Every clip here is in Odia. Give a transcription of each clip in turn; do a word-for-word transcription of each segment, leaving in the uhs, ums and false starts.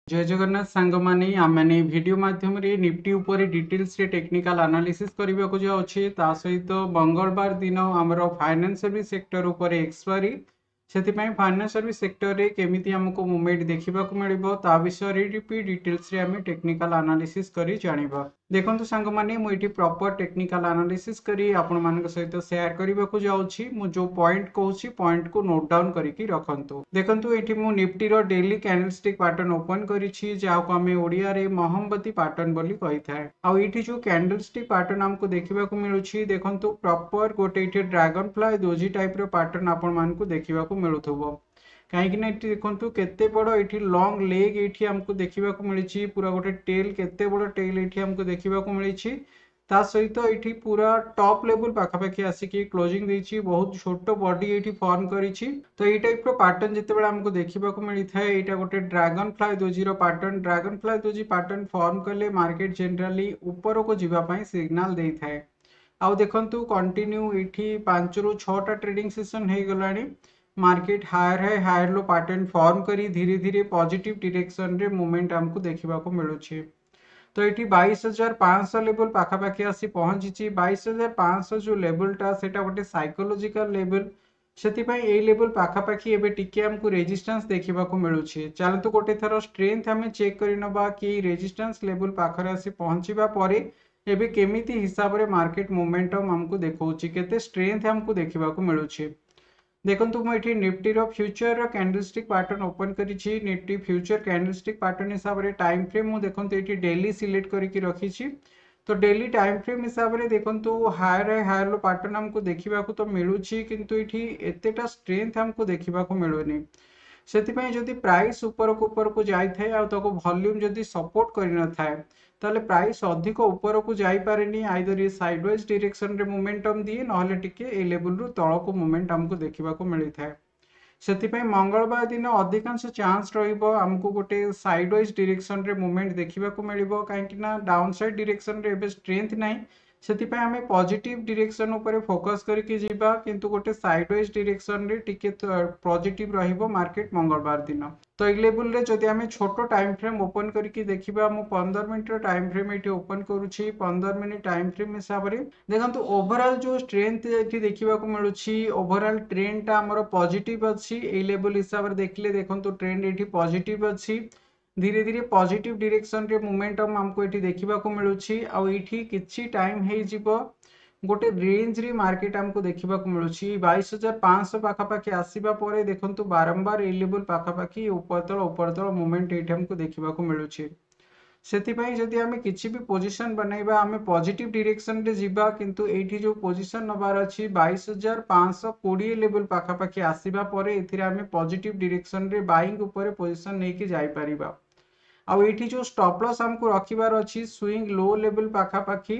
ଜୟ ଜଗନ୍ନାଥ ସାଙ୍ଗମାନେ ଆମେମାନେ ଏଇ ଭିଡ଼ିଓ ମାଧ୍ୟମରେ ନିଫ୍ଟି ଉପରେ ଡିଟେଲ୍ସରେ ଟେକ୍ନିକାଲ ଆନାଲିସିସ୍ କରିବାକୁ ଯାଉଛେ ତା ସହିତ ମଙ୍ଗଳବାର ଦିନ ଆମର ଫାଇନାନ୍ସ ସର୍ଭିସ ସେକ୍ଟର ଉପରେ ଏକ୍ସପାୟରି ସେଥିପାଇଁ ଫାଇନାନ୍ସ ସର୍ଭିସ ସେକ୍ଟରରେ କେମିତି ଆମକୁ ମୁଭମେଣ୍ଟ ଦେଖିବାକୁ ମିଳିବ ତା ବିଷୟରେ ବି ଡିଟେଲ୍ସରେ ଆମେ ଟେକ୍ନିକାଲ ଆନାଲିସିସ୍ କରି ଜାଣିବା ଦେଖନ୍ତୁ ସାଙ୍ଗମାନେ ମୁଁ ଏଠି ପ୍ରପର ଟେକ୍ନିକାଲ ଆନାଲିସିସ୍ କରି ଆପଣମାନଙ୍କ ସହିତ ସେୟାର କରିବାକୁ ଯାଉଛି ମୁଁ ଯୋଉ ପଏଣ୍ଟ କହୁଛି ପଏଣ୍ଟକୁ ନୋଟ୍ ଡାଉନ୍ କରିକି ରଖନ୍ତୁ ଦେଖନ୍ତୁ ଏଠି ମୁଁ ନିଫ୍ଟିର ଡେଲି କ୍ୟାଣ୍ଡେଲଷ୍ଟିକ୍ ପାଟର୍ନ ଓପନ କରିଛି ଯାହାକୁ ଆମେ ଓଡ଼ିଆରେ ମହମବତୀ ପାଟର୍ନ ବୋଲି କହିଥାଏ ଆଉ ଏଇଠି ଯୋଉ କ୍ୟାଣ୍ଡେଲଷ୍ଟିକ୍ ପାଟର୍ନ ଆମକୁ ଦେଖିବାକୁ ମିଳୁଛି ଦେଖନ୍ତୁ ପ୍ରପର ଗୋଟେ ଏଇଠି ଡ୍ରାଗନ ଫ୍ଲାଏ ଦୋଜି ଟାଇପର ପାଟର୍ନ ଆପଣମାନଙ୍କୁ ଦେଖିବାକୁ ମିଳୁଥିବ କାହିଁକି ନା ଏଠି ଦେଖନ୍ତୁ କେତେ ବଡ଼ ଏଠି ଲଙ୍ଗ ଲେଗ୍ ଏଇଠି ଆମକୁ ଦେଖିବାକୁ ମିଳିଛି ପୁରା ଗୋଟେ ଟେଲ୍ କେତେ ବଡ଼ ଟେଲ୍ ଏଇଠି ଆମକୁ ଦେଖିବାକୁ ମିଳିଛି ତା ସହିତ ଏଇଠି ପୁରା ଟପ୍ ଲେବୁଲ ପାଖାପାଖି ଆସିକି କ୍ଲୋଜିଂ ଦେଇଛି ବହୁତ ଛୋଟ ବଡି ଏଇଠି ଫର୍ମ କରିଛି ତ ଏଇ ଟାଇପର ପାଟର୍ନ ଯେତେବେଳେ ଆମକୁ ଦେଖିବାକୁ ମିଳିଥାଏ ଏଇଟା ଗୋଟେ ଡ୍ରାଗନ ଫ୍ଲାଏ ଦୋଜିର pattern dragon fly doji pattern form କଲେ ମାର୍କେଟ ଜେନେରାଲି ଉପରକୁ ଯିବା ପାଇଁ ସିଗ୍ନାଲ ଦେଇଥାଏ ଆଉ ଦେଖନ୍ତୁ କଣ୍ଟିନ୍ୟୁ ଏଇଠି ପାଞ୍ଚରୁ ଛଅଟା ଟ୍ରେଡିଂ ସେସନ ହେଇଗଲାଣି market higher high higher low pattern form କରି ଧୀରେ ଧୀରେ ପଜିଟିଭ ଡିରେକ୍ସନରେ ମୁଭମେଣ୍ଟ ଆମକୁ ଦେଖିବାକୁ ମିଳୁଛି ତ ଏଠି ବାଇଶ ହଜାର ପାଞ୍ଚଶହ ଲେବୁଲ ପାଖାପାଖି ଆସି ପହଞ୍ଚିଛି ବାଇଶ ହଜାର ପାଞ୍ଚଶହ ଯୋଉ ଲେବୁଲଟା ସେଇଟା ଗୋଟେ ସାଇକୋଲୋଜିକାଲ ଲେବୁଲ ସେଥିପାଇଁ ଏଇ ଲେବୁଲ ପାଖାପାଖି ଏବେ ଟିକେ ଆମକୁ ରେଜିଷ୍ଟାନ୍ସ ଦେଖିବାକୁ ମିଳୁଛି ଚାଲନ୍ତୁ ଗୋଟେ ଥର ଷ୍ଟ୍ରେନ୍ଥ ଆମେ ଚେକ୍ କରିନେବା କି ରେଜିଷ୍ଟାନ୍ସ ଲେବୁଲ ପାଖରେ ଆସି ପହଞ୍ଚିବା ପରେ ଏବେ କେମିତି ହିସାବରେ ମାର୍କେଟ ମୋମେଣ୍ଟମ ଆମକୁ ଦେଖାଉଛି କେତେ ଷ୍ଟ୍ରେନ୍ଥ ଆମକୁ ଦେଖିବାକୁ ମିଳୁଛି ଦେଖନ୍ତୁ ମୁଁ ଏଠି ନିଫ୍ଟିର ଫ୍ୟୁଚରର କ୍ୟାଣ୍ଡେଲଷ୍ଟିକ୍ ପାଟର୍ନ ଓପନ କରିଛି ନିଫ୍ଟି ଫ୍ୟୁଚର କ୍ୟାଣ୍ଡେଲଷ୍ଟିକ୍ ପାଟର୍ନ ହିସାବରେ ଟାଇମ୍ ଫ୍ରେମ୍ ମୁଁ ଦେଖନ୍ତୁ ଏଠି ଡେଲି ସିଲେକ୍ଟ କରିକି ରଖିଛି ତ ଡେଲି ଟାଇମ୍ ଫ୍ରେମ୍ ହିସାବରେ ଦେଖନ୍ତୁ higher high higher low pattern ଆମକୁ ଦେଖିବାକୁ ତ ମିଳୁଛି କିନ୍ତୁ ଏଠି ଏତେଟା ଷ୍ଟ୍ରେନ୍ଥ ଆମକୁ ଦେଖିବାକୁ ମିଳୁନି ସେଥିପାଇଁ ଯଦି ପ୍ରାଇସ୍ ଉପରକୁ ଉପରକୁ ଯାଇଥାଏ ଆଉ ତାକୁ ଭଲ୍ୟୁମ୍ ଯଦି ସପୋର୍ଟ କରିନଥାଏ ତାହେଲେ ପ୍ରାଇସ୍ ଅଧିକ ଉପରକୁ ଯାଇପାରେନି ଆଇଦର ଇଏ ସାଇଡ୍ ୱାଇଜ୍ ଡିରେକ୍ସନରେ ମୋମେଣ୍ଟମ୍ ଦିଏ ନହେଲେ ଟିକେ ଏଇ ଲେବୁଲରୁ ତଳକୁ ମୁଭମେଣ୍ଟ ଆମକୁ ଦେଖିବାକୁ ମିଳିଥାଏ ସେଥିପାଇଁ ମଙ୍ଗଳବାର ଦିନ ଅଧିକାଂଶ ଚାନ୍ସ ରହିବ ଆମକୁ ଗୋଟେ ସାଇଡ୍ ୱାଇଜ୍ ଡିରେକ୍ସନରେ ମୁଭମେଣ୍ଟ ଦେଖିବାକୁ ମିଳିବ କାହିଁକି ନା ଡାଉନ୍ ସାଇଡ୍ ଡିରେକ୍ସନରେ ଏବେ ଷ୍ଟ୍ରେନ୍ଥ ନାହିଁ ସେଥିପାଇଁ ଆମେ ପଜିଟିଭ ଡିରେକ୍ସନ ଉପରେ ଫୋକସ୍ କରିକି ଯିବା କିନ୍ତୁ ଗୋଟେ ସାଇଡ୍ ୱାଇଜ୍ ଡିରେକ୍ସନରେ ଟିକେ ପଜିଟିଭ ରହିବ ମାର୍କେଟ ମଙ୍ଗଳବାର ଦିନ ତ ଏଇ ଲେବୁଲରେ ଯଦି ଆମେ ଛୋଟ ଟାଇମ୍ ଫ୍ରେମ୍ ଓପନ କରିକି ଦେଖିବା ମୁଁ ପନ୍ଦର ମିନିଟର ଟାଇମ୍ ଫ୍ରେମ୍ ଏଇଠି ଓପନ କରୁଛି ପନ୍ଦର ମିନିଟ୍ ଟାଇମ୍ ଫ୍ରେମ୍ ହିସାବରେ ଦେଖନ୍ତୁ ଓଭରଅଲ୍ ଯୋଉ ଷ୍ଟ୍ରେନ୍ଥ ଏଠି ଦେଖିବାକୁ ମିଳୁଛି ଓଭରଅଲ୍ ଟ୍ରେଣ୍ଡଟା ଆମର ପଜିଟିଭ ଅଛି ଏଇ ଲେବୁଲ ହିସାବରେ ଦେଖିଲେ ଦେଖନ୍ତୁ ଟ୍ରେଣ୍ଡ ଏଇଠି ପଜିଟିଭ ଅଛି ଧୀରେ ଧୀରେ ପଜିଟିଭ ଡିରେକ୍ସନରେ ମୋମେଣ୍ଟମ୍ ଆମକୁ ଏଠି ଦେଖିବାକୁ ମିଳୁଛି ଆଉ ଏଇଠି କିଛି ଟାଇମ୍ ହେଇଯିବ ଗୋଟେ ରେଞ୍ଜରେ ମାର୍କେଟ ଆମକୁ ଦେଖିବାକୁ ମିଳୁଛି ବାଇଶ ହଜାର ପାଞ୍ଚଶହ ପାଖାପାଖି ଆସିବା ପରେ ଦେଖନ୍ତୁ ବାରମ୍ବାର ଏଇ ଲେବୁଲ ପାଖାପାଖି ଉପର ତଳ ଉପର ତଳ ମୁଭମେଣ୍ଟ ଏଇଠି ଆମକୁ ଦେଖିବାକୁ ମିଳୁଛି ସେଥିପାଇଁ ଯଦି ଆମେ କିଛି ବି ପୋଜିସନ ବନେଇବା ଆମେ ପଜିଟିଭ ଡିରେକ୍ସନରେ ଯିବା କିନ୍ତୁ ଏଇଠି ଯୋଉ ପୋଜିସନ ନେବାର ଅଛି ବାଇଶ ହଜାର ପାଞ୍ଚଶହ କୋଡ଼ିଏ ଲେବୁଲ ପାଖାପାଖି ଆସିବା ପରେ ଏଥିରେ ଆମେ ପଜିଟିଭ ଡିରେକ୍ସନରେ ବାଇଂ ଉପରେ ପୋଜିସନ ନେଇକି ଯାଇପାରିବା ଆଉ ଏଇଠି ଯୋଉ ଷ୍ଟପ୍ ଲସ୍ ଆମକୁ ରଖିବାର ଅଛି ସୁଇଙ୍ଗ ଲୋ ଲେବୁଲ ପାଖାପାଖି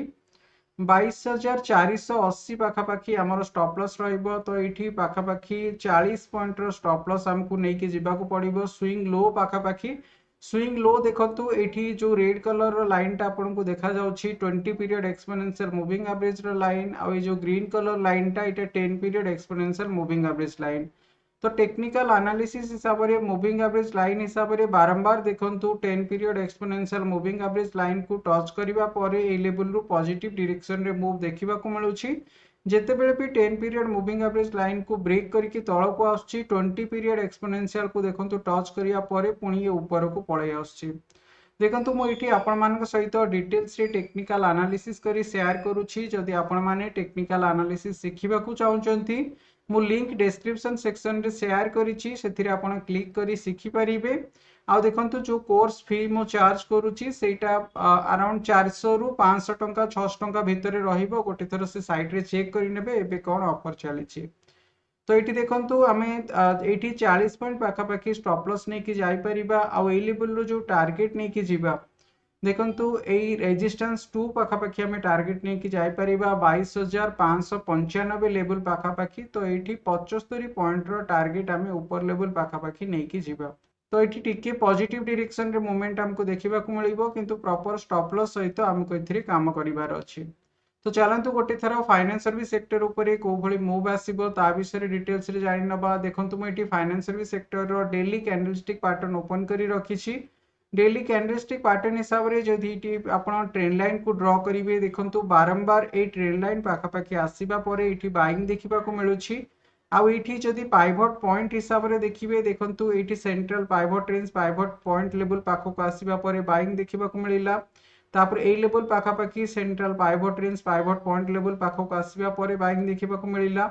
ବାଇଶ ହଜାର ଚାରିଶହ ଅଶୀ ପାଖାପାଖି ଆମର ଷ୍ଟପ୍ ଲସ୍ ରହିବ ତ ଏଇଠି ପାଖାପାଖି ଚାଳିଶ ପଏଣ୍ଟର ଷ୍ଟପ୍ ଲସ୍ ଆମକୁ ନେଇକି ଯିବାକୁ ପଡ଼ିବ ସୁଇଙ୍ଗ ଲୋ ପାଖାପାଖି ସୁଇଙ୍ଗ ଲୋ ଦେଖନ୍ତୁ ଏଇଠି ଯୋଉ ରେଡ୍ କଲରର ଲାଇନଟା ଆପଣଙ୍କୁ ଦେଖାଯାଉଛି ଟ୍ୱେଣ୍ଟି ପିରିୟଡ଼ ଏକ୍ସପୋନେନ୍ସିଆଲ ମୁଭିଂ ଆଭରେଜର ଲାଇନ୍ ଆଉ ଏଇ ଯୋଉ ଗ୍ରୀନ୍ କଲର ଲାଇନଟା ଏଇଟା ten period exponential moving average line ତ ଟେକ୍ନିକାଲ ଆନାଲିସିସ୍ ହିସାବରେ ମୁଭିଂ ଆଭରେଜ ଲାଇନ୍ ହିସାବରେ ବାରମ୍ବାର ଦେଖନ୍ତୁ ten period exponential moving average ଲାଇନକୁ ଟଚ୍ କରିବା ପରେ ଏଇ ଲେବୁଲରୁ ପଜିଟିଭ ଡିରେକ୍ସନରେ ମୁଭ୍ ଦେଖିବାକୁ ମିଳୁଛି ଯେତେବେଳେ ବି ଟେନ୍ ପିରିୟଡ଼ ମୁଭିଂ ଆଭରେଜ ଲାଇନକୁ ବ୍ରେକ୍ କରିକି ତଳକୁ ଆସୁଛି ଟ୍ୱେଣ୍ଟି ପିରିୟଡ଼ ଏକ୍ସପୋନେନ୍ସିଆଲକୁ ଦେଖନ୍ତୁ ଟଚ୍ କରିବା ପରେ ପୁଣି ଇଏ ଉପରକୁ ପଳେଇ ଆସୁଛି ଦେଖନ୍ତୁ ମୁଁ ଏଇଠି ଆପଣମାନଙ୍କ ସହିତ ଡିଟେଲ୍ସରେ ଟେକ୍ନିକାଲ ଆନାଲିସିସ୍ କରି ସେୟାର କରୁଛି ଯଦି ଆପଣମାନେ ଟେକ୍ନିକାଲ ଆନାଲିସିସ୍ ଶିଖିବାକୁ ଚାହୁଁଛନ୍ତି ମୁଁ ଲିଙ୍କ ଡେସ୍କ୍ରିପସନ ସେକ୍ସନରେ ସେୟାର କରିଛି ସେଥିରେ ଆପଣ କ୍ଲିକ୍ କରି ଶିଖିପାରିବେ ଆଉ ଦେଖନ୍ତୁ ଯୋଉ କୋର୍ସ ଫି ମୁଁ ଚାର୍ଜ କରୁଛି ସେଇଟା ଆରାଉଣ୍ଡ ଚାରିଶହରୁ ପାଞ୍ଚଶହ ଟଙ୍କା ଛଅଶହ ଟଙ୍କା ଭିତରେ ରହିବ ଗୋଟେ ଥର ସେ ସାଇଟ୍ରେ ଚେକ୍ କରିନେବେ ଏବେ କ'ଣ ଅଫର୍ ଚାଲିଛି ତ ଏଇଠି ଦେଖନ୍ତୁ ଆମେ ଏଇଠି ଚାଳିଶ ପଏଣ୍ଟ ପାଖାପାଖି ଷ୍ଟପ୍ ଲସ୍ ନେଇକି ଯାଇପାରିବା ଆଉ ଏଇ ଲେବୁଲରୁ ଯୋଉ ଟାର୍ଗେଟ ନେଇକି ଯିବା ଦେଖନ୍ତୁ ଏଇ ରେଜିଷ୍ଟାନ୍ସ ଟୁ ପାଖାପାଖି ଆମେ ଟାର୍ଗେଟ ନେଇକି ଯାଇପାରିବା ବାଇଶ ହଜାର ପାଞ୍ଚଶହ ପଞ୍ଚାନବେ ଲେବୁଲ ପାଖାପାଖି ତ ଏଇଠି ପଚସ୍ତରୀ ପଏଣ୍ଟର ଟାର୍ଗେଟ ଆମେ ଉପର ଲେବୁଲ ପାଖାପାଖି ନେଇକି ଯିବା ତ ଏଇଠି ଟିକେ ପଜିଟିଭ ଡିରେକ୍ସନରେ ମୁଭମେଣ୍ଟ ଆମକୁ ଦେଖିବାକୁ ମିଳିବ କିନ୍ତୁ ପ୍ରପର ଷ୍ଟପ୍ ଲସ୍ ସହିତ ଆମକୁ ଏଥିରେ କାମ କରିବାର ଅଛି ତ ଚାଲନ୍ତୁ ଗୋଟେ ଥର ଫାଇନାନ୍ସ ସର୍ଭିସ ସେକ୍ଟର ଉପରେ କୋଉ ଭଳି ମୁଭ୍ ଆସିବ ତା ବିଷୟରେ ଡିଟେଲ୍ସରେ ଜାଣିନେବା ଦେଖନ୍ତୁ ମୁଁ ଏଠି ଫାଇନାନ୍ସ ସର୍ଭିସ ସେକ୍ଟରର ଡେଲି କ୍ୟାଣ୍ଡେଲଷ୍ଟିକ୍ ପାଟର୍ନ ଓପନ କରି ରଖିଛି ଡେଲି କ୍ୟାଣ୍ଡେଲଷ୍ଟିକ୍ ପାଟର୍ନ ହିସାବରେ ଯଦି ଏଇଠି ଆପଣ ଟ୍ରେଣ୍ଡ ଲାଇନ୍କୁ ଡ୍ର କରିବେ, ଦେଖନ୍ତୁ ବାରମ୍ବାର ଏଇ ଟ୍ରେଣ୍ଡ ଲାଇନ୍ ପାଖାପାଖି ଆସିବା ପରେ ଏଇଠି ବାଇଂ ଦେଖିବାକୁ ମିଳୁଛି। ଆଉ ଏଇଠି ଯଦି ପାଇଭଟ ପଏଣ୍ଟ ହିସାବରେ ଦେଖିବେ, ଦେଖନ୍ତୁ ଏଇଠି ସେଣ୍ଟ୍ରାଲ ପାଇଭଟ ରେଞ୍ଜ, ପାଇଭଟ ପଏଣ୍ଟ ଲେବୁଲ ପାଖକୁ ଆସିବା ପରେ ବାଇଂ ଦେଖିବାକୁ ମିଳିଲା। ତାପରେ ଏଇ ଲେବୁଲ ପାଖାପାଖି ସେଣ୍ଟ୍ରାଲ ପାଇଭଟ ରେଞ୍ଜ, ପାଇଭଟ ପଏଣ୍ଟ ଲେବୁଲ ପାଖକୁ ଆସିବା ପରେ ବାଇଂ ଦେଖିବାକୁ ମିଳିଲା।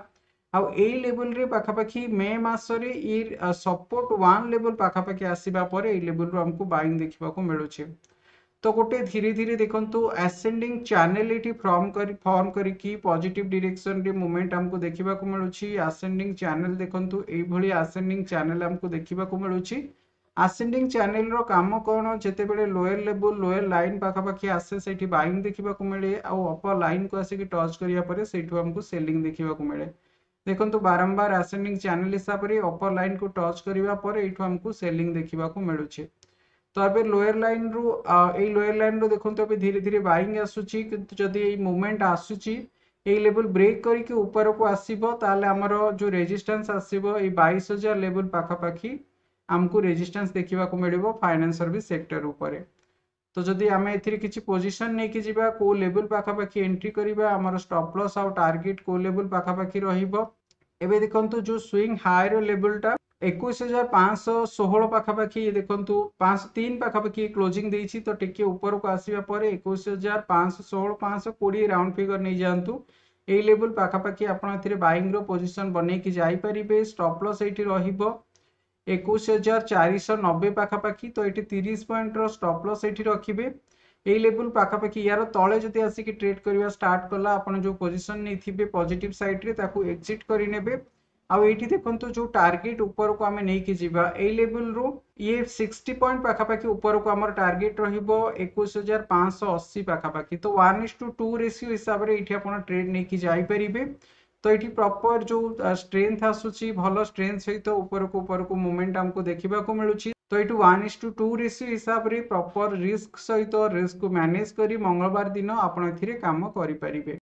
ଆଉ ଏଇ ଲେବୁଲରେ ପାଖାପାଖି ମେ ମାସରେ ଇ ସପୋର୍ଟ ୱାନ୍ ଲେବୁଲ ପାଖାପାଖି ଆସିବା ପରେ ଏଇ ଲେବୁଲରୁ ଆମକୁ ବାଇଂ ଦେଖିବାକୁ ମିଳୁଛି। ତ ଗୋଟେ ଧୀରେ ଧୀରେ ଦେଖନ୍ତୁ ଆସେଣ୍ଡିଂ ଚ୍ୟାନେଲ ଏଠି ଫର୍ମ କରି ଫର୍ମ କରିକି ପଜିଟିଭ ଡିରେକ୍ସନରେ ମୁଭମେଣ୍ଟ ଆମକୁ ଦେଖିବାକୁ ମିଳୁଛି। ଆସେଣ୍ଡିଂ ଚ୍ୟାନେଲ ଦେଖନ୍ତୁ, ଏଇଭଳି ଆସେଣ୍ଡିଂ ଚ୍ୟାନେଲ ଆମକୁ ଦେଖିବାକୁ ମିଳୁଛି। ଆସେଣ୍ଡିଂ ଚ୍ୟାନେଲର କାମ କ'ଣ? ଯେତେବେଳେ ଲୋୟର ଲେବୁଲ, ଲୋୟର ଲାଇନ୍ ପାଖାପାଖି ଆସେ, ସେଇଠି ବାଇଂ ଦେଖିବାକୁ ମିଳେ ଆଉ ଅପର ଲାଇନ୍କୁ ଆସିକି ଟଚ୍ କରିବା ପରେ ସେଇଠୁ ଆମକୁ ସେଲିଂ ଦେଖିବାକୁ ମିଳେ। ଦେଖନ୍ତୁ ବାରମ୍ବାର ଆସେଣ୍ଡିଂ ଚ୍ୟାନେଲ ହିସାବରେ ଅପର ଲାଇନ୍କୁ ଟଚ୍ କରିବା ପରେ ଏଇଠୁ ଆମକୁ ସେଲିଂ ଦେଖିବାକୁ ମିଳୁଛି। ତ ଏବେ ଲୋୟର ଲାଇନ୍ରୁ, ଏଇ ଲୋୟର ଲାଇନ୍ରୁ ଦେଖନ୍ତୁ ଏବେ ଧୀରେ ଧୀରେ ବାଇଂ ଆସୁଛି। କିନ୍ତୁ ଯଦି ଏଇ ମୁଭମେଣ୍ଟ ଆସୁଛି, ଏଇ ଲେବୁଲ ବ୍ରେକ୍ କରିକି ଉପରକୁ ଆସିବ, ତାହେଲେ ଆମର ଯେଉଁ ରେଜିଷ୍ଟାନ୍ସ ଆସିବ, ଏଇ ବାଇଶ ହଜାର ଲେବୁଲ ପାଖାପାଖି ଆମକୁ ରେଜିଷ୍ଟାନ୍ସ ଦେଖିବାକୁ ମିଳିବ ଫାଇନାନ୍ସ ସର୍ଭିସ ସେକ୍ଟର ଉପରେ। ତ ଯଦି ଆମେ ଏଥିରେ କିଛି ପୋଜିସନ ନେଇକି ଯିବା, କେଉଁ ଲେବୁଲ ପାଖାପାଖି ଏଣ୍ଟ୍ରି କରିବା, ଆମର ଷ୍ଟପ୍ ଲସ୍ ଆଉ ଟାର୍ଗେଟ କେଉଁ ଲେବୁଲ ପାଖାପାଖି ରହିବ? ଏବେ ଦେଖନ୍ତୁ ଯେଉଁ ସୁଇଙ୍ଗ ହାଇର ଲେବୁଲଟା ଏକୋଇଶ ହଜାର ପାଞ୍ଚଶହ ଷୋହଳ ପାଖାପାଖି, ଦେଖନ୍ତୁ ପାଞ୍ଚଶହ ତିନି ପାଖାପାଖି କ୍ଲୋଜିଂ ଦେଇଛି। ତ ଟିକେ ଉପରକୁ ଆସିବା ପରେ ଏକୋଇଶ ହଜାର ପାଞ୍ଚଶହ ଷୋହଳ, ପାଞ୍ଚଶହ କୋଡ଼ିଏ ରାଉଣ୍ଡ ଫିଗର ନେଇଯାଆନ୍ତୁ, ଏଇ ଲେବୁଲ ପାଖାପାଖି ଆପଣ ଏଥିରେ ବାଇଂର ପୋଜିସନ ବନେଇକି ଯାଇପାରିବେ। ଷ୍ଟପ୍ ଲସ୍ ଏଇଠି ରହିବ ଏକୋଇଶ ହଜାର ଚାରିଶହ ନବେ ପାଖାପାଖି। ତ ଏଇଠି ତିରିଶ ପଏଣ୍ଟର ଷ୍ଟପ୍ ଲସ୍ ଏଇଠି ରଖିବେ। ଏଇ ଲେବୁଲ ପାଖାପାଖି, ୟାର ତଳେ ଯଦି ଆସିକି ଟ୍ରେଡ୍ କରିବା ଷ୍ଟାର୍ଟ କଲା, ଆପଣ ଯେଉଁ ପୋଜିସନ ନେଇଥିବେ ପଜିଟିଭ ସାଇଡ୍ରେ ତାକୁ ଏକ୍ଜିଟ୍ କରିନେବେ। ଆଉ ଏଇଠି ଦେଖନ୍ତୁ ଯେଉଁ ଟାର୍ଗେଟ ଉପରକୁ ଆମେ ନେଇକି ଯିବା, ଏଇ ଲେବୁଲରୁ ଇଏ ସିକ୍ସଟି ପଏଣ୍ଟ ପାଖାପାଖି ଉପରକୁ ଆମର ଟାର୍ଗେଟ ରହିବ ଏକୋଇଶ ହଜାର ପାଞ୍ଚଶହ ଅଶୀ ପାଖାପାଖି। ତ one is to two ratio ହିସାବରେ ଏଇଠି ଆପଣ ଟ୍ରେଡ୍ ନେଇକି ଯାଇପାରିବେ। ତ ଏଇଠି ପ୍ରପର ଯେଉଁ ଷ୍ଟ୍ରେନ୍ଥ ଆସୁଛି, ଭଲ ଷ୍ଟ୍ରେନ୍ଥ ସହିତ ଉପରକୁ ଉପରକୁ ମୁଭମେଣ୍ଟ ଆମକୁ ଦେଖିବାକୁ ମିଳୁଛି। ତ ଏଇଠୁ one is to two ratio ହିସାବରେ ପ୍ରପର ରିସ୍କ ସହିତ ରିସ୍କକୁ ମ୍ୟାନେଜ କରି ମଙ୍ଗଳବାର ଦିନ ଆପଣ ଏଥିରେ କାମ କରିପାରିବେ।